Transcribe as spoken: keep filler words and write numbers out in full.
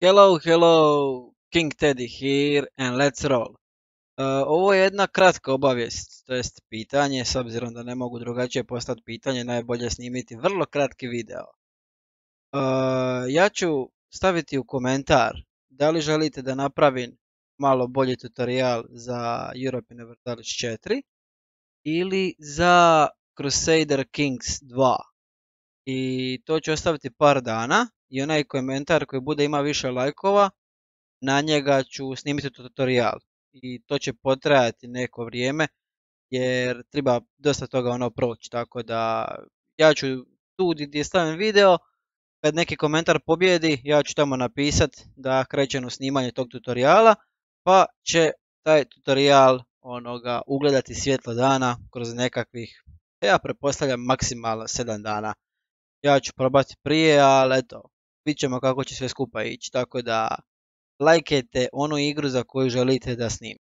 Hello, hello, King Teddy here and let's roll. Uh, ovo je jedna kratka obavijest, to jest pitanje, s obzirom da ne mogu drugačije postati pitanje, najbolje je snimiti vrlo kratki video. Uh, ja ću staviti u komentar da li želite da napravim malo bolji tutorial za Europe Universalis četiri ili za Crusader Kings dva. I to ću ostaviti par dana i onaj komentar koji bude ima više lajkova, na njega ću snimiti tutorial i to će potrajati neko vrijeme jer treba dosta toga ono proći, tako da ja ću tu gdje stavim video, kad neki komentar pobjedi ja ću tamo napisat da krećem u snimanje tog tutoriala, pa će taj tutorial onoga ugledati svjetlo dana kroz nekakvih, ja pretpostavljam maksimalno sedam dana. Ja ću probati prije, ali eto, vidit ćemo kako će sve skupa ići, tako da lajkajte onu igru za koju želite da snimim.